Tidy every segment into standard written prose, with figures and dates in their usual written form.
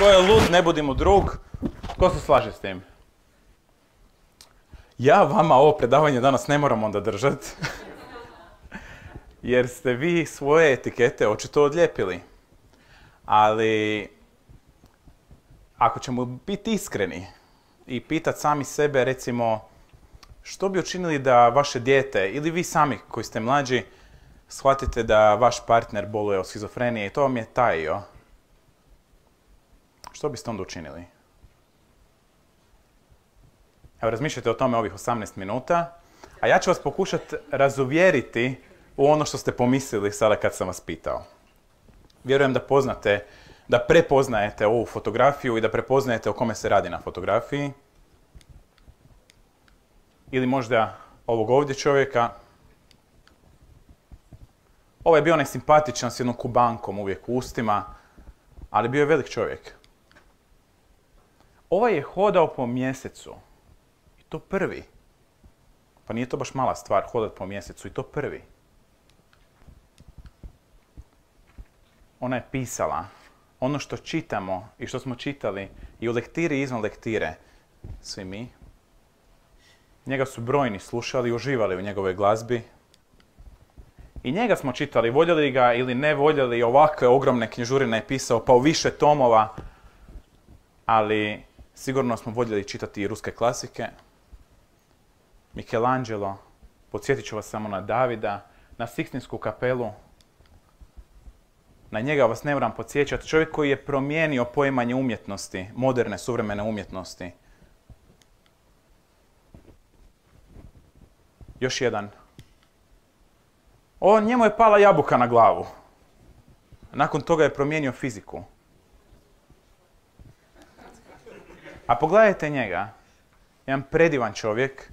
Tko je lud, ne budi mu drug. Tko se slaže s tim? Ja vama ovo predavanje danas ne moram onda držati. Jer ste vi svoje etikete očito odlijepili. Ali, ako ćemo biti iskreni i pitati sami sebe, recimo, što bi učinili da vaše dijete, ili vi sami koji ste mlađi, shvatite da vaš partner boluje od schizofrenije i to vam je tajio, što biste onda učinili? Evo, razmišljajte o tome ovih 18 minuta, a ja ću vas pokušati razuvjeriti u ono što ste pomislili sada kad sam vas pitao. Vjerujem da prepoznajete ovu fotografiju i da prepoznajete o kome se radi na fotografiji. Ili možda ovog ovdje čovjeka. Ovo je bio onaj simpatičan s jednom kubankom uvijek u ustima, ali bio je velik čovjek. Ovaj je hodao po mjesecu. I to prvi. Pa nije to baš mala stvar hodati po mjesecu i to prvi. Ona je pisala ono što čitamo i što smo čitali i u lektiri i izvan lektire, svi mi. Njega su brojni slušali i uživali u njegovoj glazbi. I njega smo čitali, voljeli ga ili ne voljeli, ovakve ogromne knjižurine je pisao, pa u više tomova, ali sigurno smo voljeli čitati i ruske klasike. Michelangelo, podsjetit ću vas samo na Davida, na Sikstinsku kapelu. Na njega vas ne moram podsjećati. Čovjek koji je promijenio poimanje umjetnosti, moderne, suvremene umjetnosti. Još jedan. Njemu je pala jabuka na glavu. Nakon toga je promijenio fiziku. A pogledajte njega. Jedan predivan čovjek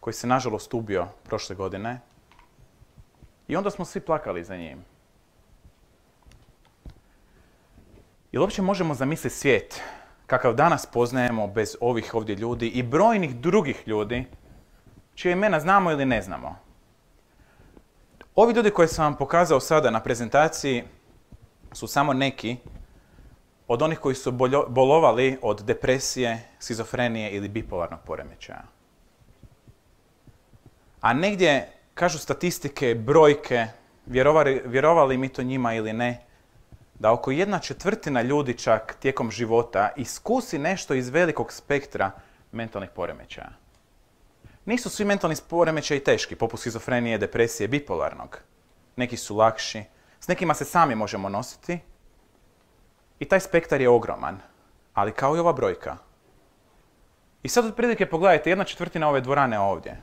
koji se nažalost ubio prošle godine. I onda smo svi plakali za njim. Jel uopće možemo zamisliti svijet kakav danas poznajemo bez ovih ovdje ljudi i brojnih drugih ljudi čije imena znamo ili ne znamo? Ovi ljudi koje sam vam pokazao sada na prezentaciji su samo neki od onih koji su bolovali od depresije, schizofrenije ili bipolarnog poremećaja. A negdje, kažu statistike, brojke, vjerovali mi to njima ili ne, da oko 1/4 ljudi čak tijekom života iskusi nešto iz velikog spektra mentalnih poremećaja. Nisu svi mentalni poremećaji teški, poput schizofrenije, depresije, bipolarnog. Neki su lakši, s nekima se sami možemo nositi i taj spektar je ogroman, ali kao i ova brojka. I sad otprilike pogledajte, 1/4 ove dvorane ovdje.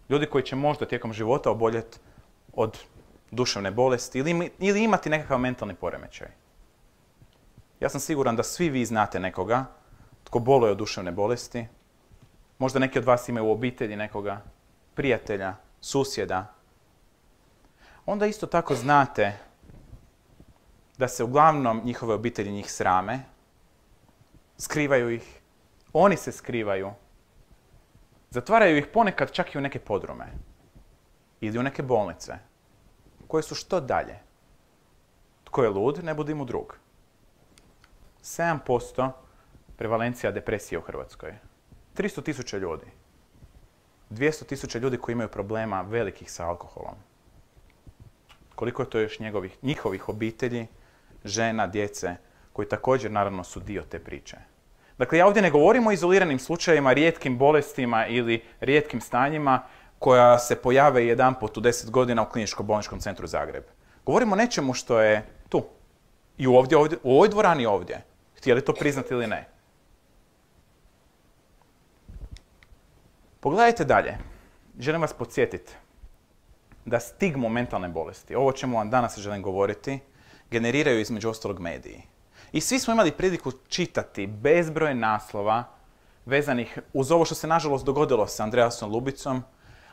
Ljudi koji će možda tijekom života oboljeti od duševne bolesti ili imati nekakav mentalni poremećaj. Ja sam siguran da svi vi znate nekoga tko boluje od duševne bolesti. Možda neki od vas imaju u obitelji nekoga, prijatelja, susjeda. Onda isto tako znate da se uglavnom njihove obitelji njih srame, skrivaju ih, oni se skrivaju, zatvaraju ih ponekad čak i u neke podrume ili u neke bolnice, koje su što dalje. Tko je lud, ne budi mu drug. 7% prevalencija depresije u Hrvatskoj. 300.000 ljudi. 200.000 ljudi koji imaju problema velikih sa alkoholom. Koliko je to još njihovih obitelji, žena, djece, koji također naravno su dio te priče. Dakle, ja ovdje ne govorim o izoliranim slučajevima, rijetkim bolestima ili rijetkim stanjima koja se pojave jedanput u 10 godina u Kliničko-bolničkom centru Zagreb. Govorimo o nečemu što je tu. I u ovoj dvorani ovdje. Htjeli to priznati ili ne. Pogledajte dalje. Želim vas podsjetiti da stigmu mentalne bolesti, ovo čemu vam danas želim govoriti, generiraju između ostalog mediji. I svi smo imali priliku čitati bezbroj naslova vezanih uz ovo što se nažalost dogodilo sa Andreasom Lubicom,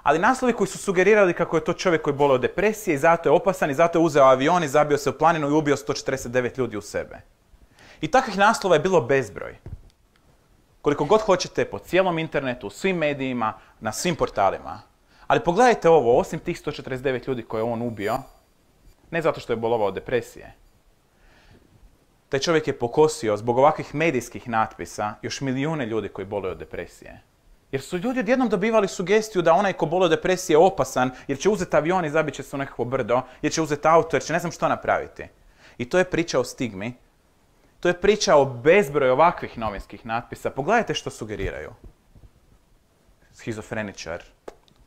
ali naslovi koji su sugerirali kako je to čovjek koji boluje od depresije i zato je opasan i zato je uzeo avion i zabio se u planinu i ubio 149 ljudi u sebe. I takvih naslova je bilo bezbroj. Koliko god hoćete, po cijelom internetu, u svim medijima, na svim portalima. Ali pogledajte ovo, osim tih 149 ljudi koje je on ubio, ne zato što je bolovao od depresije. taj čovjek je pokosio zbog ovakvih medijskih natpisa još milijune ljudi koji boluju od depresije. Jer su ljudi odjednom dobivali sugestiju da onaj ko boluje od depresije je opasan, jer će uzeti avion i zabit će se u nekakvo brdo, jer će uzeti auto, jer će ne znam što napraviti. I to je priča o stigmi. To je priča o bezbroju ovakvih novinskih natpisa. Pogledajte što sugeriraju. Schizofreničar.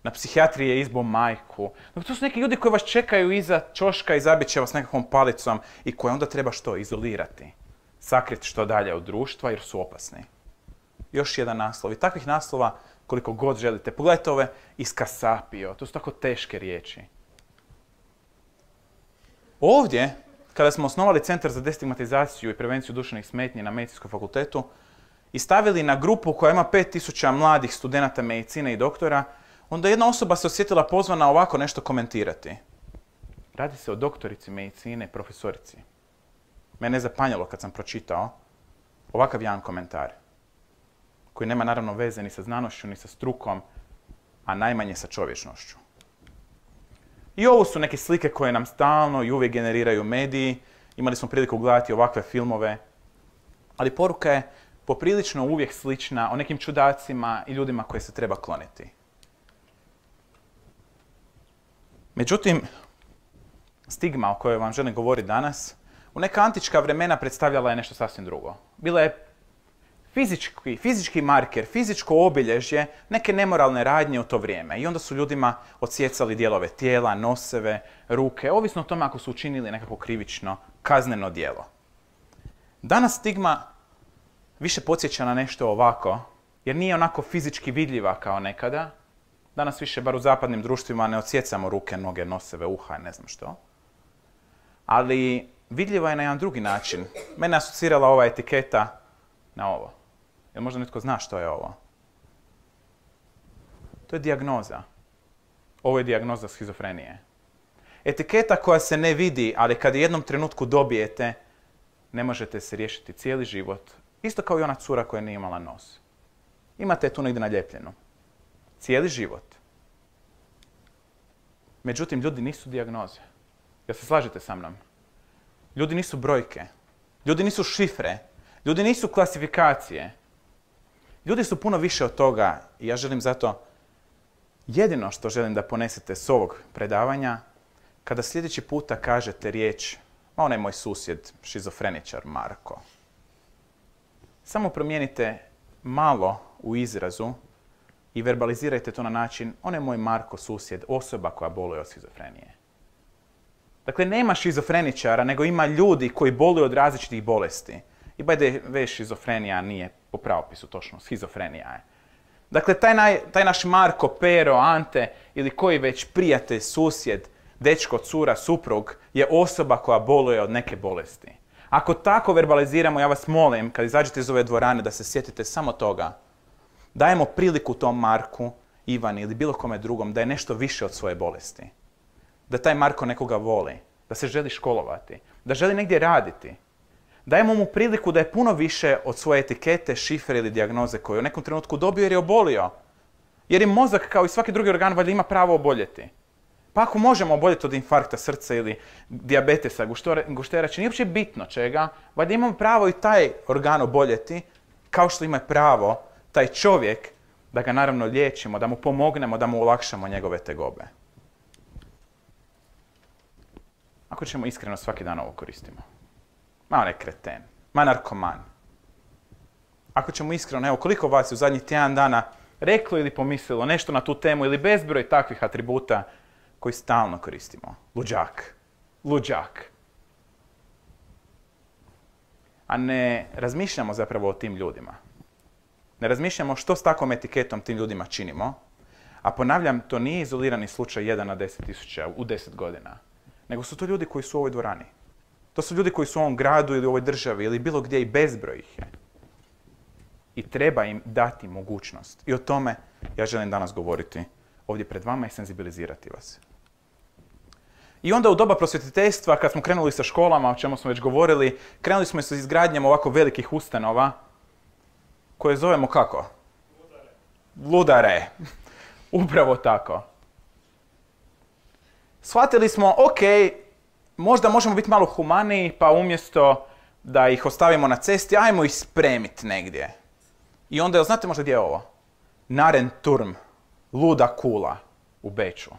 Na psihijatriji je izbo majku. To su neki ljudi koji vas čekaju iza ćoška i zabit će vas nekakvom palicom i koje onda treba što? Izolirati. Sakriti što dalje od društva jer su opasni. Još jedan naslov. I takvih naslova koliko god želite. Pogledajte ove iskasapio. To su tako teške riječi. Ovdje, kada smo osnovali Centar za destigmatizaciju i prevenciju duševnih smetnji na Medicinskom fakultetu i stavili na grupu koja ima 5000 mladih studenata medicine i doktora, onda jedna osoba se osjetila pozvana ovako nešto komentirati. Radi se o doktorici medicine, profesorici. Mene je zapanjalo kad sam pročitao ovakav jedan komentar, koji nema naravno veze ni sa znanošću, ni sa strukom, a najmanje sa čovječnošću. I ovo su neke slike koje nam stalno i uvijek generiraju mediji. Imali smo priliku gledati ovakve filmove. Ali poruka je poprilično uvijek slična o nekim čudacima i ljudima koje se treba kloniti. Međutim, stigma o kojoj vam želim govoriti danas, u neka antička vremena predstavljala je nešto sasvim drugo. Bila je fizički marker, fizičko obilježje neke nemoralne radnje u to vrijeme. I onda su ljudima odsjecali dijelove tijela, noseve, ruke, ovisno o tome ako su učinili nekako krivično, kazneno djelo. Danas stigma više podsjeća na nešto ovako, jer nije onako fizički vidljiva kao nekada. Danas više, bar u zapadnim društvima, ne odsjecamo ruke, noge, noseve, uha, ne znam što. Ali vidljiva je na jedan drugi način. Mene asocirala ova etiketa na ovo. Jel možda netko zna što je ovo? To je dijagnoza. Ovo je dijagnoza schizofrenije. Etiketa koja se ne vidi, ali kad je jednom trenutku dobijete, ne možete se riješiti cijeli život. Isto kao i ona cura koja nije imala nos. Imate je tu negdje naljepljenu. Cijeli život. Međutim, ljudi nisu dijagnoze. Jel se slažete sa mnom? Ljudi nisu brojke. Ljudi nisu šifre. Ljudi nisu klasifikacije. Ljudi su puno više od toga i ja želim zato, jedino što želim da ponesete s ovog predavanja, kada sljedeći puta kažete riječ, on je moj susjed, šizofreničar Marko. Samo promijenite malo u izrazu i verbalizirajte to na način, on je moj Marko susjed, osoba koja boluje od schizofrenije. Dakle, nema šizofreničara, nego ima ljudi koji boluju od različitih bolesti. I by the way, šizofrenija nije po pravopisu točno, schizofrenija je. Dakle, taj naš Marko, Pero, Ante ili koji već prijatelj, susjed, dečko, cura, suprug je osoba koja boluje od neke bolesti. Ako tako verbaliziramo, ja vas molim, kad izađete iz ove dvorane, da se sjetite samo toga. Dajemo priliku tom Marku, Ivani ili bilo kome drugom da je nešto više od svoje bolesti. Da taj Marko nekoga voli, da se želi školovati, da želi negdje raditi. Dajemo mu priliku da je puno više od svoje etikete, šifre ili dijagnoze koju je u nekom trenutku dobio jer je obolio. Jer je mozak, kao i svaki drugi organ, valjda ima pravo oboljeti. Pa ako možemo oboljeti od infarkta srca ili dijabetesa, gušterače, nije uopće bitno čega, valjda imamo pravo i taj organ oboljeti, kao što ima pravo taj čovjek da ga naravno liječimo, da mu pomognemo, da mu olakšamo njegove tegobe. Ako ćemo iskreno svaki dan ovo koristimo. Ma on je kreten, ma narkoman. Ako ćemo iskreno, evo koliko vas je u zadnjih tjedan dana reklo ili pomislilo nešto na tu temu ili bezbroj takvih atributa koji stalno koristimo. Luđak. Luđak. A ne razmišljamo zapravo o tim ljudima. Ne razmišljamo što s takvom etiketom tim ljudima činimo. A ponavljam, to nije izolirani slučaj 1 na 10.000 u 10 godina. Nego su to ljudi koji su u ovoj dvorani. To su ljudi koji su u ovom gradu ili u ovoj državi ili bilo gdje i bezbroj ih je. I treba im dati mogućnost. I o tome ja želim danas govoriti ovdje pred vama i senzibilizirati vas. I onda u doba prosvjetiteljstva, kad smo krenuli sa školama, o čemu smo već govorili, krenuli smo sa izgradnjom ovako velikih ustanova, koje zovemo kako? Ludare. Ludare. Upravo tako. Shvatili smo, ok, možda možemo biti malo humaniji, pa umjesto da ih ostavimo na cesti, ajmo ih spremiti negdje. I onda, znate možda gdje je ovo? Narenturm, luda kula u Beču.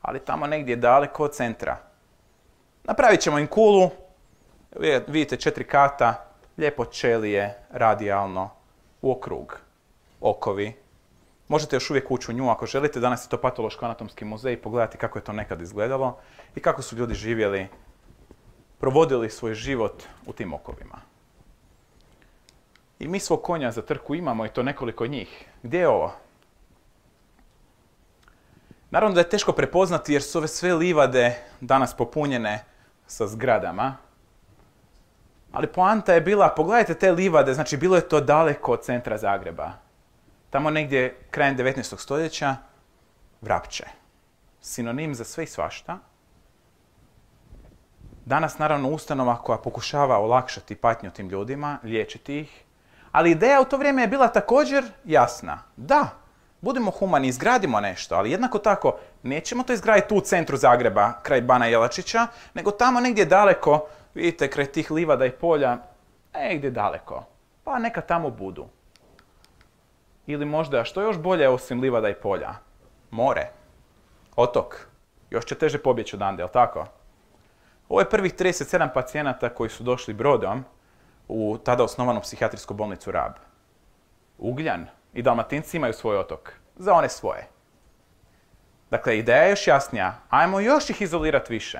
Ali tamo negdje daleko od centra. Napravit ćemo im kulu, vidite 4 kata, lijepo ćelije, radijalno, u okrug, okovi. Možete još uvijek ući u nju ako želite, danas je to patološko-anatomski muzej i pogledati kako je to nekad izgledalo i kako su ljudi živjeli, provodili svoj život u tim okovima. I mi svog konja za trku imamo i to nekoliko njih. Gdje je ovo? Naravno da je teško prepoznati jer su ove sve livade danas popunjene sa zgradama. Ali poanta je bila, pogledajte te livade, znači bilo je to daleko od centra Zagreba. Tamo negdje krajem 19. stoljeća, Vrapče. Sinonim za sve i svašta. Danas naravno ustanova koja pokušava olakšati patnju tim ljudima, liječiti ih. Ali ideja u to vrijeme je bila također jasna. Da, budemo humani, izgradimo nešto, ali jednako tako nećemo to izgraditi tu u centru Zagreba, kraj Bana Jelačića, nego tamo negdje daleko, vidite, kraj tih livada i polja, negdje daleko. Pa neka tamo budu. Ili možda, što još bolje osim livada i polja? More. Otok. Još će teže pobjeći odande, jel' tako? Ovo je prvih 37 pacijenata koji su došli brodom u tada osnovanu psihijatrijsku bolnicu Rab. Ugljan i Dalmatinci imaju svoj otok. Za one svoje. Dakle, ideja je još jasnija. Ajmo još ih izolirati više.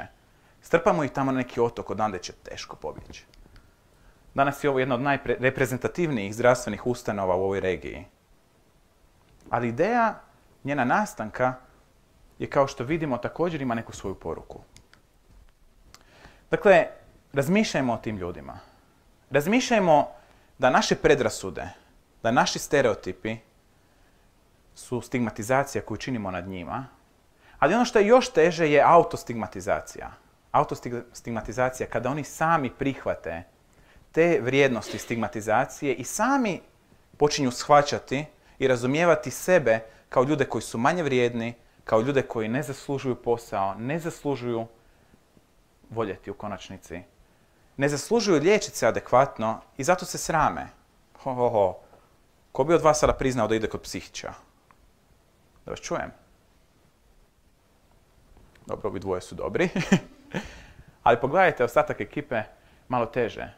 Strpamo ih tamo na neki otok, odande će teško pobjeći. Danas je ovo jedna od najreprezentativnijih zdravstvenih ustanova u ovoj regiji. Ali ideja njena nastanka je, kao što vidimo, također ima neku svoju poruku. Dakle, razmišljajmo o tim ljudima. Razmišljajmo da naše predrasude, da naši stereotipi su stigmatizacija koju činimo nad njima, ali ono što je još teže je autostigmatizacija. Autostigmatizacija kada oni sami prihvate te vrijednosti stigmatizacije i sami počinju shvaćati i razumijevati sebe kao ljude koji su manje vrijedni, kao ljude koji ne zaslužuju posao, ne zaslužuju voljeti u konačnici, ne zaslužuju liječiti se adekvatno i zato se srame. Ko bi od vas sada priznao da ide kod psihičara? Da vas čujem. Dobro, ovi dvoje su dobri. Ali pogledajte ostatak ekipe malo teže.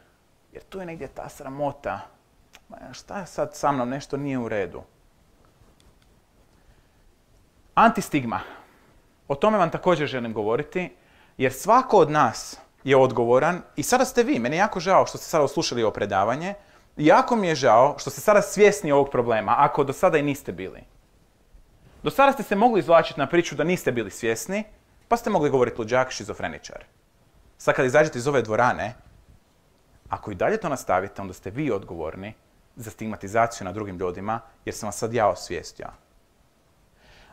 Jer tu je negdje ta sramota. Šta je sad sa mnom, nešto nije u redu. Antistigma. O tome vam također želim govoriti, jer svako od nas je odgovoran i sada ste vi. Meni je jako žao što ste sada oslušali ovo predavanje. Jako mi je žao što ste sada svjesni ovog problema, ako do sada i niste bili. Do sada ste se mogli izvlačiti na priču da niste bili svjesni, pa ste mogli govoriti luđak, šizofreničar. Sad kad izađete iz ove dvorane, ako i dalje to nastavite, onda ste vi odgovorni za stigmatizaciju nad drugim ljudima, jer sam vas sad ja osvijestio.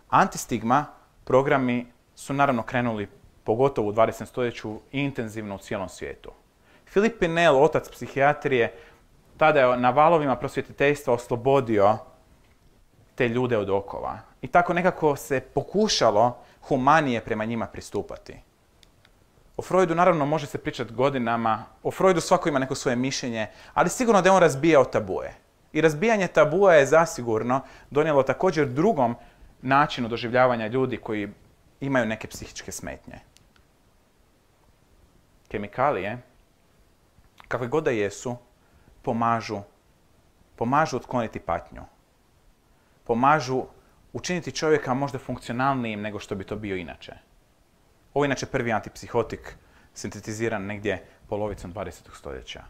Antistigma programi su naravno krenuli pogotovo u 20. stoljeću i intenzivno u cijelom svijetu. Philippe Pinel, otac psihijatrije, tada je na valovima prosvjetiteljstva oslobodio te ljude od okova. I tako nekako se pokušalo humanije prema njima pristupati. O Freudu naravno može se pričati godinama, o Freudu svako ima neko svoje mišljenje, ali sigurno da je on razbijao tabue. I razbijanje tabua je zasigurno donijelo također drugom načinu doživljavanja ljudi koji imaju neke psihičke smetnje. Kemikalije, kakve god da jesu, pomažu otkloniti patnju. Pomažu učiniti čovjeka možda funkcionalnijim nego što bi to bio inače. Ovo je inače prvi antipsihotik sintetiziran negdje polovicom 20. stoljeća.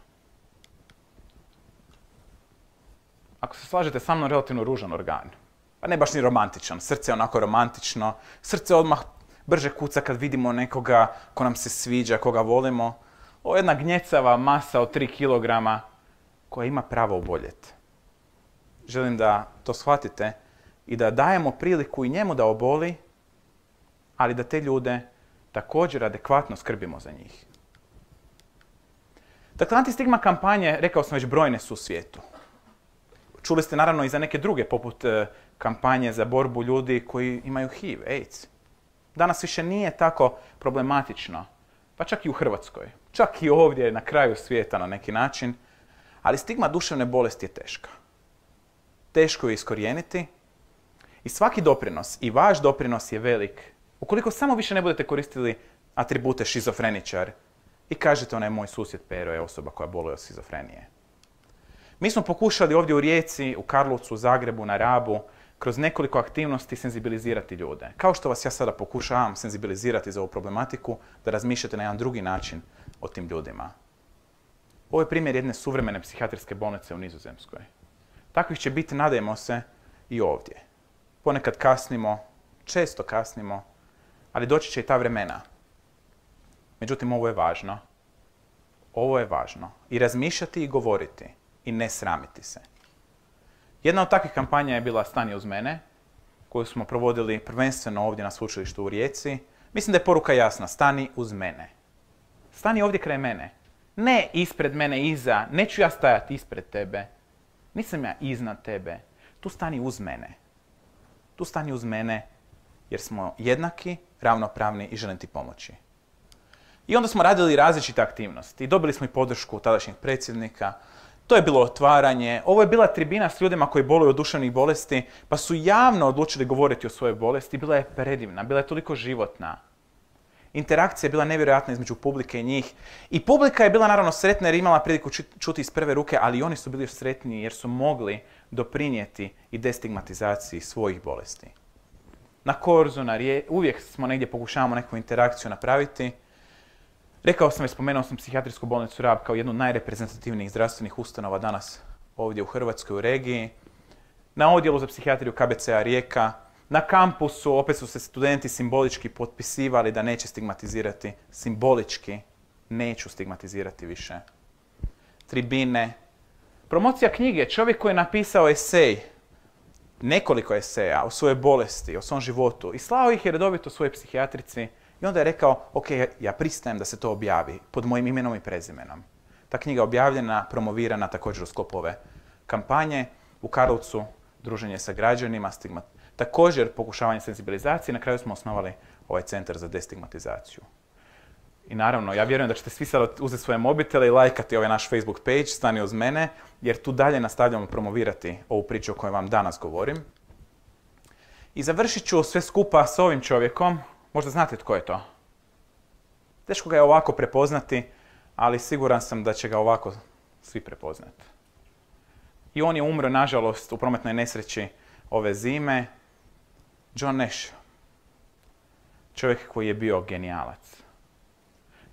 Ako se slažete sa mnom, relativno ružan organ. Pa ne baš ni romantičan. Srce je onako romantično. Srce odmah brže kuca kad vidimo nekoga ko nam se sviđa, koga volimo. Ovo je jedna gnjecava masa od 3 kg koja ima pravo oboljeti. Želim da to shvatite i da dajemo priliku i njemu da oboli, ali da te ljude također adekvatno skrbimo za njih. Dakle, antistigma kampanje, rekao sam već, brojne su u svijetu. Čuli ste naravno i za neke druge, poput kampanje za borbu ljudi koji imaju HIV, AIDS. Danas više nije tako problematično, pa čak i u Hrvatskoj. čak i ovdje na kraju svijeta na neki način, ali stigma duševne bolesti je teška. Teško je iskorijeniti i svaki doprinos, i vaš doprinos je velik. Ukoliko samo više ne budete koristili atribute šizofreničar i kažete onaj moj susjed Pero je osoba koja boluje od šizofrenije. Mi smo pokušali ovdje u Rijeci, u Karlovcu, u Zagrebu, na Rabu, kroz nekoliko aktivnosti senzibilizirati ljude. Kao što vas ja sada pokušavam senzibilizirati za ovu problematiku, da razmišljate na jedan drugi način o tim ljudima. Ovo je primjer jedne suvremene psihijatrijske bolnice u Nizozemskoj. Takvih će biti, nadajmo se, i ovdje. Ponekad kasnimo, često kasnimo, ali doći će i ta vremena. Međutim, ovo je važno. Ovo je važno. I razmišljati i govoriti. I ne sramiti se. Jedna od takvih kampanja je bila Stani uz mene, koju smo provodili prvenstveno ovdje na sveučilištu u Rijeci. Mislim da je poruka jasna. Stani uz mene. Stani ovdje kraj mene. Ne ispred mene, iza. Neću ja stajati ispred tebe. Nisam ja iznad tebe. Tu stani uz mene. Tu stani uz mene jer smo jednaki, ravnopravni i želim ti pomoći. I onda smo radili različite aktivnosti. I dobili smo i podršku tadašnjeg predsjednika. To je bilo otvaranje. Ovo je bila tribina s ljudima koji boluju od duševnih bolesti, pa su javno odlučili govoriti o svojoj bolesti. Bila je predivna, bila je toliko životna. Interakcija je bila nevjerojatna između publike i njih. I publika je bila naravno sretna jer je imala priliku čuti iz prve ruke, ali i oni su bili sretni jer su mogli doprinijeti i destigmatizaciji svojih bolesti. Na Korzu, uvijek smo negdje pokušavamo neku interakciju napraviti. Rekao sam i spomenuo sam psihijatrijsku bolnicu Rab kao jednu od najreprezentativnijih zdravstvenih ustanova danas ovdje u Hrvatskoj, u regiji. Na odjelu za psihijatriju KBC-a Rijeka. Na kampusu opet su se studenti simbolički potpisivali da neće stigmatizirati. Simbolički neću stigmatizirati više. Tribine. Promocija knjige. Čovjek koji je napisao esej, nekoliko eseja o svojoj bolesti, o svom životu i slao ih je redovito svojoj psihijatrici. I onda je rekao, ok, ja pristajem da se to objavi pod mojim imenom i prezimenom. Ta knjiga je objavljena, promovirana također u sklopu ove kampanje. U Karlovcu druženje sa građanima, također pokušavanje senzibilizacije. Na kraju smo osnovali ovaj centar za destigmatizaciju. I naravno, ja vjerujem da ćete svi sad uzeti svoje mobitele i lajkati ovaj naš Facebook page, Stani uz mene, jer tu dalje nastavljamo promovirati ovu priču o kojoj vam danas govorim. I završit ću sve skupa s ovim čovjekom. Možda znate tko je to. Teško ga je ovako prepoznati, ali siguran sam da će ga ovako svi prepoznati. I on je umro, nažalost, u prometnoj nesreći ove zime. John Nash. Čovjek koji je bio genijalac.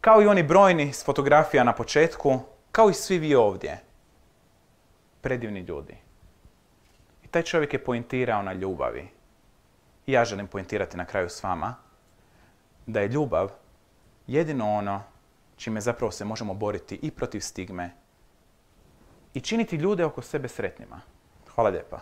Kao i oni brojni s fotografija na početku, kao i svi vi ovdje. Predivni ljudi. I taj čovjek je poentirao na ljubavi. I ja želim poentirati na kraju s vama da je ljubav jedino ono čime zapravo se možemo boriti i protiv stigme i činiti ljude oko sebe sretnima. Hvala lijepa.